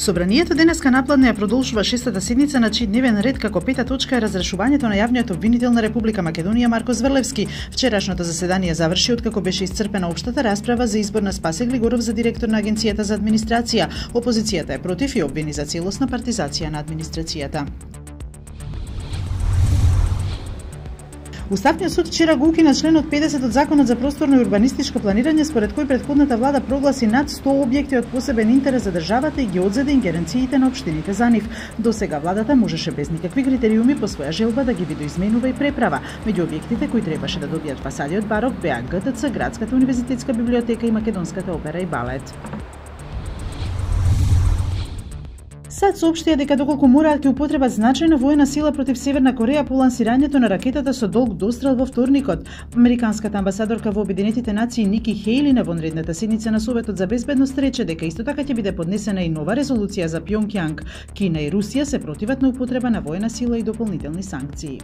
Собранието денеска напладне ја продолжува шестата седница на чиј дневен ред како пета точка е разрешувањето на јавниот обвинител на Република Македонија Марко Зврлевски. Вчерашното заседание заврши откако беше исцрпена општата расправа за избор на Спасе Глигоров за директор на Агенцијата за администрација. Опозицијата е против и обвини за целосна партизација на администрацијата. Уставниот суд вчера го укина членот 50 од Законот за просторно и урбанистичко планирање, според кој претходната влада прогласи над 100 објекти од посебен интерес за државата и ги одзеде ингеренциите на општините за нив. До сега владата можеше без никакви критериуми по своја желба да ги видоизменува и преправа. Меѓу објектите кои требаше да добијат фасади од барок беа ГТЦ, Градската универзитетска библиотека и Македонската опера и балет. САД соопштија дека доколку мораат ќе употребат значајна воена сила против Северна Кореја по лансирањето на ракетата со долг дострел во вторникот. Американската амбасадорка во Обединетите нации Ники Хејли на вонредната седница на Советот за безбедност рече дека исто така ќе биде поднесена и нова резолуција за Пјонкјанг. Кина и Русија се противат на употреба на воена сила и дополнителни санкции.